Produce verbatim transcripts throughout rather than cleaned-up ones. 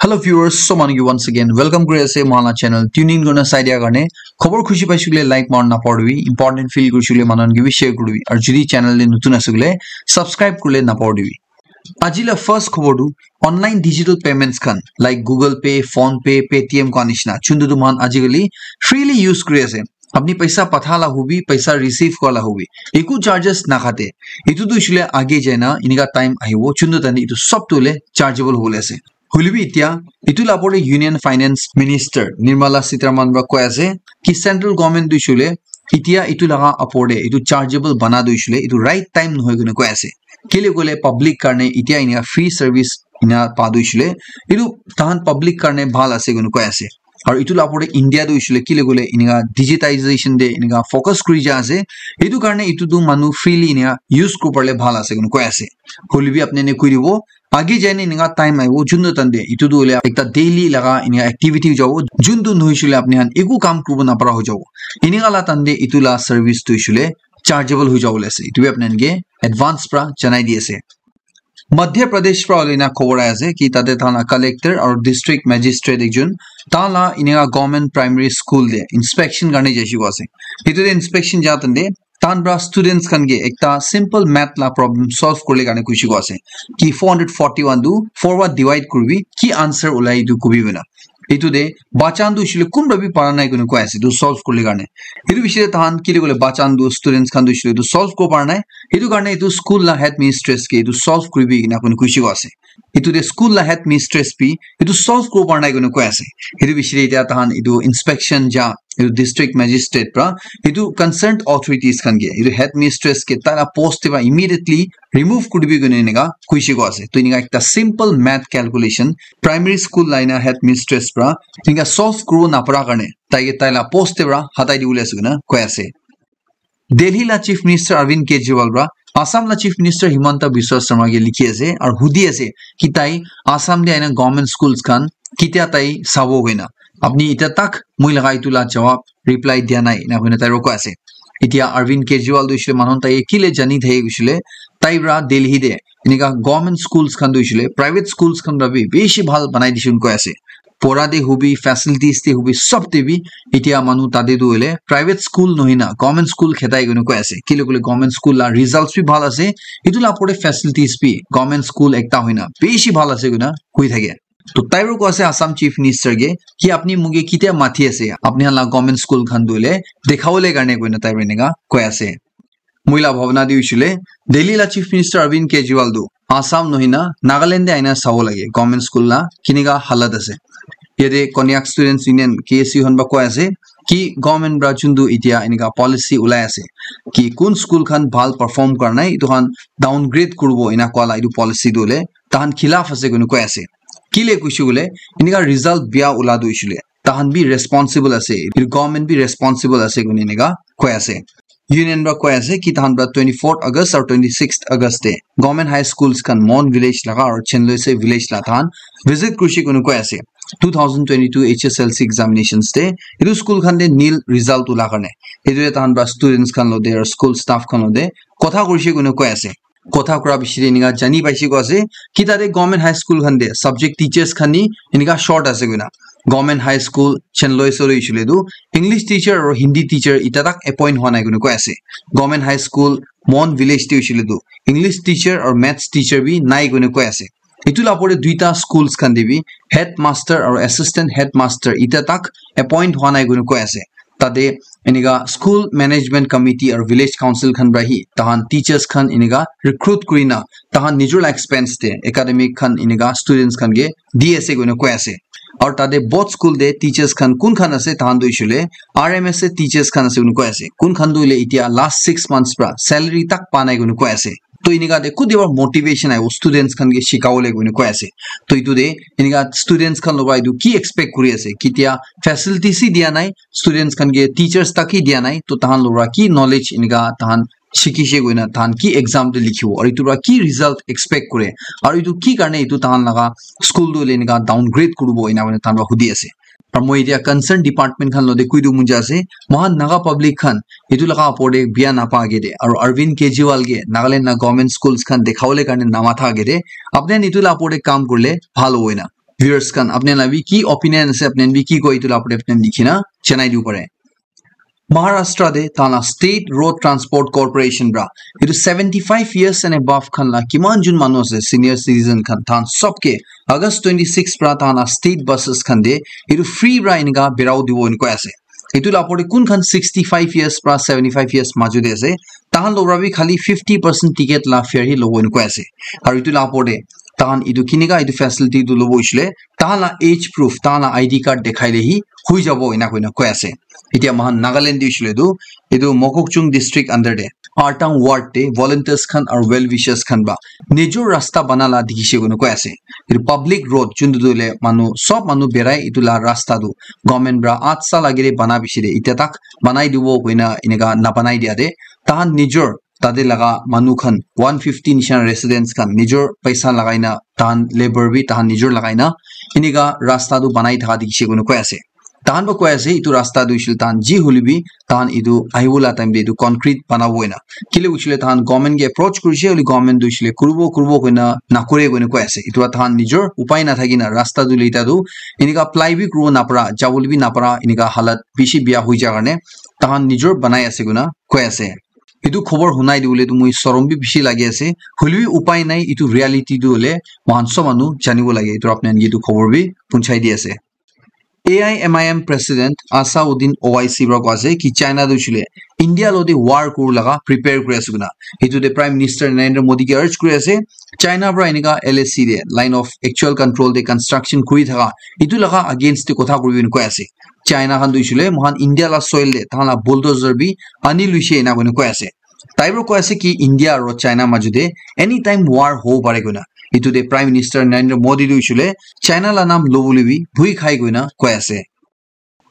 Hello viewers, so manu ki once again welcome kuri ase mohan la channel. Tune in kurina sai dia karne khobor khushi paishe koile like marina napahoribi, important feel kurishe koile manu khan ke bi share kuribi, aru jodi channel te notun ase koile subscribe kuribole napahoribi. Aji la first khobor tu online digital payments khan like Google Pay, PhonePe, Paytm khan nishina chuntu tu mohan ajikali freely use kuri ase. Apni paisa patha la hobi, paisa receive kura la hobi, eku charges nakhate. Etu tu hoishe koile age jaina enika time ahibo chuntu tani etu sob tu hoile chargeable hobole ase. Hoilebi etia etu la opor te Union Finance Minister Nirmala Sitharaman para koi ase ki central government tu hoishe koile etia etu laga opor te etu chargeable bana tu hoishe koile etu right time nohoi koina koi ase. Kile koile public karne etia enika free service ena pa tu hoishe koile etu tahan public karne bhal ase koina koi ase. Aru etu la opor te India tu hoishe koile kile koile enika digitization te enika focus kuri ja ase. Etu karne etu tu manu freely enika use kuri pale bhal ase koina koi ase. Hoilebi apni ne koi dibo age jaine enika time ahibo juntu tante etu tu hoile ekta daily laga enika activity hoi jabo juntu nohoishe koile apni khan eku kam kuribo napara hoi jabo. Enika la tante etu la service tu hoishe koile chargeable hoi jabo le ase. Etu bi apni khan ke advance para janai di ase. Madhya Pradesh para hoile na khobor ahi ase ki tate tahan la collector aru district magistrate ekjon tahan la enika government primary school te inspection karne jaise koa ase. Etu te inspection ja tante tahan para students khan ke ekta simple math la problem solve kuribole karne koise koa ase ki four hundred forty one tu four para divide kuribi ki answer ulai etu kobi koina. Etu te bacha khan tu hoishe koile kunba bi para nai koina koi ase etu solve kuribole karne. Etu bishi te tahan kile koile bacha khan tu students khan tu hoishe koile etu solve kuribo para nai. Etu karne etu school la headmistress ke etu solve kuribi ena koina koise koa ase. Etu te school la headmistress bi etu solve kuribo para nai koina koi ase. Etu bishi te etia tahan etu inspection ja etu district magistrate para etu concerned authorities khan ke etu headmistress ke tai la post te para immediately remove kuribi koina enika koise koa ase. To enika ekta simple math calculation primary school la ena headmistress para enika solve kuribo napara karne tai ke tai la post te para hatai dibole ase koina koi ase. Delhi la Chief Minister Arvind Kejriwal para Assam la Chief Minister Himanta Biswa Sarma ke likhi ase aru hudi ase ki tai Assam te ena government schools khan ketia tai sabo koina. Apni etia tak moi laga etu la jawab reply dia nai ena koina tai roko ase. Etia Arvind Kejriwal tu hoishe koile manu khan tai kile jani thaki koishe koile tai para Delhi te enika government schools khan tu hoishe koile private schools khan para bi bishi bhal banai dishe koina koi ase. Pora te hobi, facilities te hobi, sob te bi etia manu tate tu hoile private school nohoi na government school khetai koina koi ase. Kile koile government school la results bi bhal ase. Etu la opor te facilities bi government school ekta hoi na bishi bhal ase koina koi thake. To tai para koi ase Assam Chief Minister ke ki apni moke ketia mati ase, apni khan la government school khan tu hoile dekhabole karne koina tai para enika koi ase. Moi la bhabna tu hoishe koile Delhi la Chief Minister Arvind Kejriwal tu Assam nohoi na Nagaland te aina sabo lage government school la kenika halat ase. Yate Konyak Students Union, K S U khan para koi ase ki government para juntu etia enika policy ulai ase ki kun school khan bhal perform kura nai etu khan downgrade kuribo ena koa la etu policy tu hoile tahan khilaf ase koina koi ase. Kile koishe koile enika result bia ula tu hoishe koile tahan bi responsible ase, etu government bi responsible ase koina enika koi ase. Union para koi ase ki tahan para twenty fourth August aru twenty sixth August te government high schools khan Mon village laga aru Chenloise village la tahan visit kurishe koina koi ase. Two thousand twenty two H S L C examinations te etu school khan te nil result ula karne etu te tahan para students khan lote aru school staff khan lote kotha kurishe koina koi ase. Kotha kura bishi te enika jani paishe koa ase ki tate government high school khan te subject teachers khan ni enika short ase koina. Government high school Chenloise hoishe koile tu English teacher aru Hindi teacher etia tak appoint hua nai koina koi ase. Government high school Mon village te hoishe koile tu English teacher aru maths teacher bi nai koina koi ase. Etu la opor te duita schools khan te bi headmaster aru assistant headmaster etia tak appoint hua nai koina koi ase. Tate enika school management committee aru village council khan para hi tahan teachers khan enika recruit kurina tahan nijor la expense te academic khan enika students khan ke di ase koina koi ase. Aru tate both school te teachers khan kun khan ase tahan tu hoishe koile R M S A teachers khan ase koina koi ase. Kun khan tu hoile etia last six months para salary tak pa nai koina koi ase. To enika te kute para motivation ahibo students khan ke shikabole koina koi ase. To etu te enika students khan logot etu ki expect kuri ase, ketia facilities hi dia nai, students khan ke teachers tak hi dia nai, to tahan logot ki knowledge enika tahan shikishe koina tahan ki exam te likhibo aru etu para ki result expect kure aru etu ki karne etu tahan laga school tu hoile enika downgrade kuribo ena koina tahan para hudi ase. Aru moi etia concern department khan lote koi dibo mon jai ase, mohan Naga public khan etu laga opor te bia napa age te aru Arvind Kejriwal ke Nagaland la government schools khan dekhabole karne namatha age te apni khan etu la opor te kam kurile bhal hobo ena. Viewers khan, apni la bi ki opinion ase, apni bi ki koi, etu la opor te apni likhi na janai dibo pare. Maharashtra te tahan la State Road Transport Corporation pra etu seventy five years and above khan la kiman jun manu ase, senior citizen khan, tahan sob ke August twenty six pra tahan la state buses khan te etu free pra enika berao dibo enika ase. Etu la opor te kun khan sixty five years pra seventy five years majo te ase, tahan logra bi khali fifty percent ticket la fare hi lobo enika ase. Aru etu la opor te tahan etu kinika etu facility tu lobo hoishe le, tahan la age proof, tahan la I D card dekhai le hi hui jabo ena koina koi ase. Etia mohan Nagaland te hoishe le tu, etu Mokokchung district under te Artang ward te volunteers khan aru well wishers khan pra nijor rasta bana la dikhishe koina koi ase. Etu public road juntu tu le manu, sob manu berai etu la rasta tu government pra at sal age te bana bishi de, etia tak banai dibo koina enika na banai dia de, tahan nijor tate laga manu khan one fifty nishan residents khan nijor paisa lagai na, tahan labour bi tahan nijor lagai na enika rasta tu banai thaka dikhishe koina koi ase. Tahan pra koi ase etu rasta tu hoishe le tahan ji hoile bi tahan etu ahibo la time te etu concrete banabo ena. Kile hoishe le tahan government ke approach kurishe, hoile government tu hoishe le kuribo kuribo koina nakore koina koi ase. Etu pra tahan nijor upai nathaki na rasta tu leta tu enika apply bi kuribo napara, jabole bi napara, enika halat bishi biya hoi ja karne tahan nijor banai ase koina koi ase. Etu khobor hunai dibole tu moi sorom bi bishi lagi ase. Hoile bi upai nai, etu reality tu hole mohan sob manu janibo lage. Etu apni khan ke etu khobor bi punchai di ase. A I M I M President Asauddin Owaisi pra koi ase ki China tu hoishe le India lo te war kuru laga prepare kuri ase koina. Etu te Prime Minister Narendra Modi ke urge kuri ase, China pra enika L A C te, Line of Actual Control te construction kuri thaka, etu laga against te kotha kuribi koi ase. China khan tu hoishe le mohan India la soil te tahan la bulldozer bi ani luishe ena koina koi ase. Tai pra koi ase ki India aru China majo te anytime war hobo pare koina. Etu te Prime Minister Narendra Modi tu hoishe le China la nam lobole bi bhui khai koina koi ase.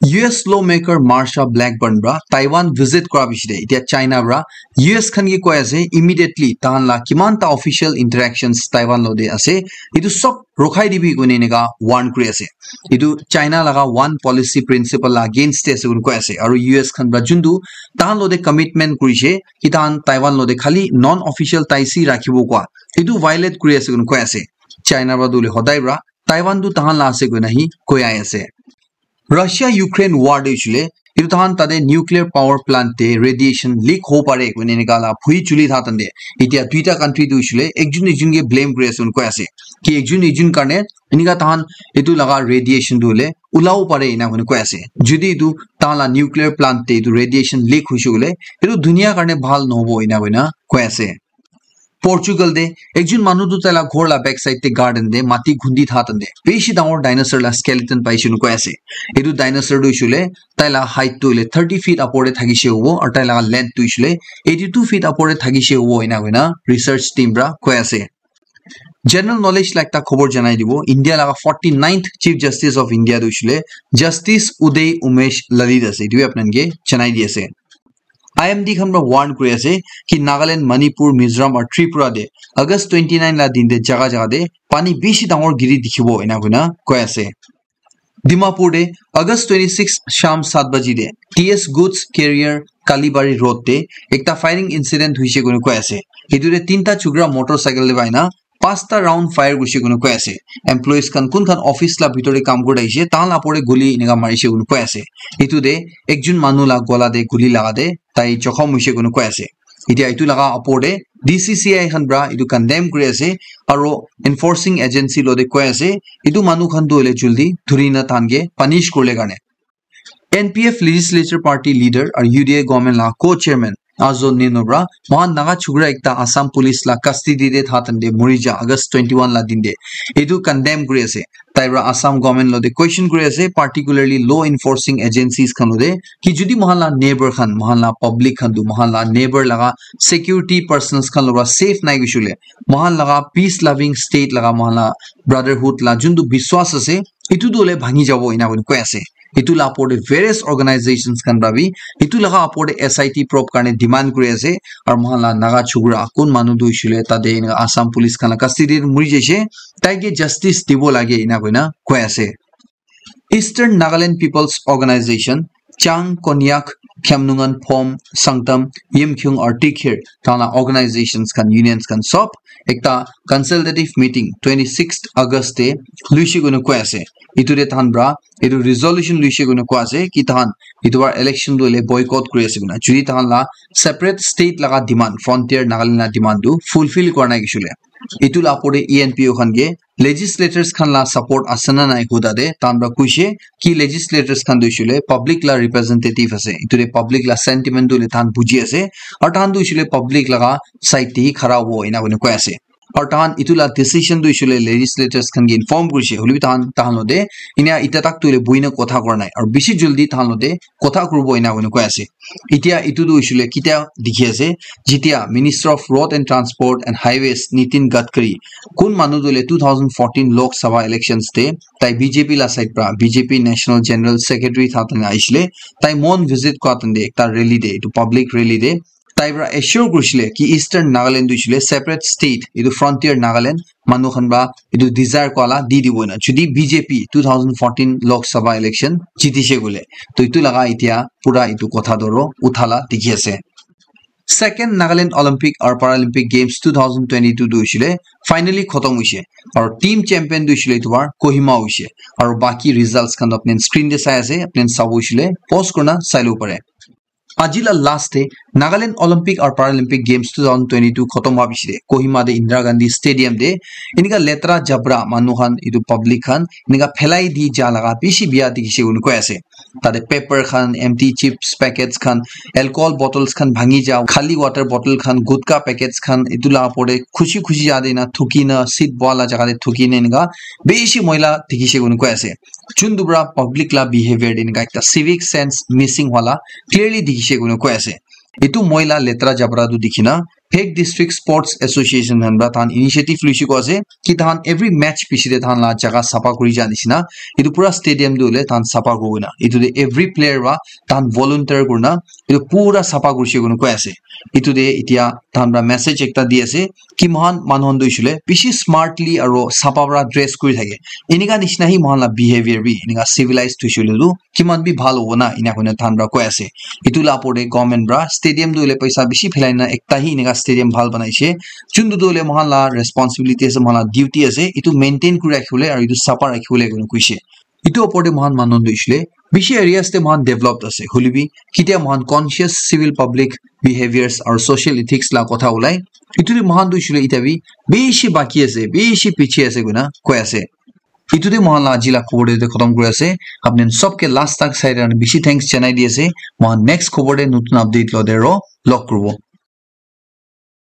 U S lawmaker Marsha Blackburn pra Taiwan visit kura bishi de, etia China pra U S khan ke koi ase immediately tahan la kiman ta official interactions Taiwan lo te ase, etu sob rokhai dibi koina enika warn kuri ase. Etu China laga one policy principle la against te ase koina koi ase. Aru U S khan pra juntu tahan lo te commitment kurishe ki tahan Taiwan lo te khali non official ties hi rakhibo koi, etu violate kuri ase koina koi ase. China pra tu hole hodai pra Taiwan tu tahan la ase koina hi koi ai ase. Russia Ukraine war te hoishe le, etu tahan tate nuclear power plant te radiation leak hobo pare koina enika la bhui chuli tha tande. Etia duita country tu hoishe le, ekjun ekjun ke blame kuri ase koina koi ase. Ki ekjun ekjun karne enika tahan etu laga radiation tu hole ulabo pare ena koina koi ase. Jodi etu tahan la nuclear plant te etu radiation leak hoishe koile, etu dunia karne bhal nohobo ena koina koi ase. Portugal te ekjun manu tu taila ghor la backside te garden te mati khundi tha tande bishi dangor dinosaur la skeleton paishe koina koi ase. Etu dinosaur tu hoishe le taila height tu hole thirty feet upor te thakishe hobo aru taila length tu hoishe le eighty two feet upor te thakishe hobo ena koina research team pra koi ase. General knowledge la ekta khobor janai dibo, India laga forty ninth Chief Justice of India tu hoishe le Justice Uday Umesh Lalit ase, etu bi apni khan ke janai di ase. I M D khan pra warn kuri ase ki Nagaland, Manipur, Mizoram aru Tripura te August twenty nine la din te jaga jaga te pani bishi dangor giri dikhibo ena koina koi ase. Dimapur te August twenty six sham sat baji te T S goods carrier Kalibari road te ekta firing incident hoishe koina koi ase. Etu te tinta chukra motorcycle te pai na pasta round fire kurishe koina koi ase. Employees khan kun khan office la bitor te kam kuri thakishe, tahan la opor te guli enika marishe koina koi ase. Etu te ekjun manu la gola te guli laga te tai jokhom hoishe koina koi ase. Etia etu laga opor te D C C I khan pra etu condemn kuri ase, aro enforcing agency lo te koi ase, etu manu khan tu hole jaldi dhuri na tahan ke punish kuribole karne. N P F Legislature Party leader aru U D A government la co-chairman Azo Neno pra mohan Naga chukra ekta Assam police la custody te tha tande mori ja August twenty one la din te, etu condemn kuri ase. Tai pra Assam government lo te question kuri ase, particularly law enforcing agencies khan lo te, ki jodi mohan la neighbor khan, mohan la public khan tu, mohan la neighbor laga security personnels khan lo pra safe nai hoishe koile, mohan laga peace loving state laga, mohan la brotherhood la juntu biswas ase, etu tu hole bhangi jabo ena koi ase. Etu la opor te various organizations khan pra bi etu laga opor te S I T probe karne demand kuri ase, aru mohan la Naga chukra kun manu tu hoishe koile tate enika Assam police khan la custody te mori jaise, tai ke justice dibo lage ena koina koi ase. Eastern Nagaland People's Organization, Chang Konyak Khyamnungan, Phom, Sangtam, Yimkhiung, Artikhir, tana organizations khan, unions khan sob ekta consultative meeting twenty-sixth August te luishe koina koi ase. Itu te tahan pra itu resolution luishe koina koi ase ki tahan itu bar election tu hoile boycott kuri ase koina. Jodi tahan la separate state laga demand, frontier Nagaland la demand tu fulfill kora nai kishule, itu la opor te E N P O khan ke legislators khan la support ase na nai huda de tahan pra kuishe ki legislators khan tu hoishe le public la representative ase. Itu de public la sentiment tu le tahan buji ase. Aru tahan tu hoishe le public laga side te hi khara hobo ena koina koi ase. Aru tahan itu la decision tu hoishe le legislators khan ke inform kurishe. Hoilebi tahan, tahan lote inia ita tak tu le buina kotha kora nai. Aru bishi jaldi tahan lote kotha kuribo ena koina koi ase. Itia itu tu hoishe le kitia dikhi ase, jitia Minister of Road and Transport and Highways Nitin Gadkari, kun manu tu le two thousand fourteen Lok Sabha elections te tai B J P la side pra, B J P National General Secretary tha tane aishile, tai mon visit kora tande ekta rally de, itu public rally de, tai pra assure kurishile ki Eastern Nagaland tu hoishe le separate state, itu frontier Nagaland manu khan pra itu desire kora la di dibo na. Jodi B J P two thousand fourteen Lok Sabha election jitishe koile, to itu laga itia pura itu kotha tu aro utha la dikhi ase. Second Nagaland Olympic aru Paralympic Games two thousand twenty-two tu hoishe le finally khotom hoishe. Aru team champion tu hoishe le itu bar Kohima hoishe. Aru baki results khan tu apni screen te sai ase, apni sabo hoishe le pause kurina sai lobo pare. Aji la last te Nagaland Olympic aru Paralympic Games two thousand twenty-two khotom howa piche te Kohima te Indira Gandhi Stadium te enika letra jabra manu khan, itu public khan enika phelai di ja laga bishi bia dikhishe koina koi ase. Tate paper khan, empty chips packets khan, alcohol bottles khan bhangi ja, khali water bottle khan, gutka packets khan, itu la opor te khushi khushi ja de na thuki na seat boha la jaga te thuki na enika bishi moila dikhishe koina koi ase. Chuntu pra public la behavior de enika ekta civic sense missing wala clearly dikhishe koina koi ase. Itu moila letra jabra tu dikhi na Phek District Sports Association khan pra tahan initiative luishe koi ase ki tahan every match piche te tahan la jaga sapha kuri ja nishina itu pura stadium tu hoile tahan sapha kuri na itu te every player pra tahan volunteer kurina itu pura sapha kurishe koina koi ase. Itu te itia tahan pra message ekta di ase ki mohan manu khan tu hoishe le bishi smartly aro sapha pra dress kuri thake, enika nishina hi mohan la behavior bi enika civilized hoishe le tu kiman bi bhal hobo na, ena koina tahan pra koi ase. Itu la opor te government pra stadium tu hoile paisa bishi phelai na ekta hi enika stadium bhal banaishe. Chuntu tu hoile mohan la responsibility ase, mohan la duty ase itu maintain kuri rakhibole aru itu sapha rakhibole koina koishe. Itu opor te mohan manu tu hoishe le bishi areas te mohan developed ase, hoilebi kitia mohan conscious civil public behaviors aru social ethics la kotha ulai, itu te mohan tu hoishe le ita bi bishi baki ase, bishi piche ase koina koi ase. Itu te mohan la aji la khobor te khotom kuri ase. Apni khan sob ke last tak sai karne bishi thanks janai di ase. Mohan next khobor te notun update lote aro log kuribo.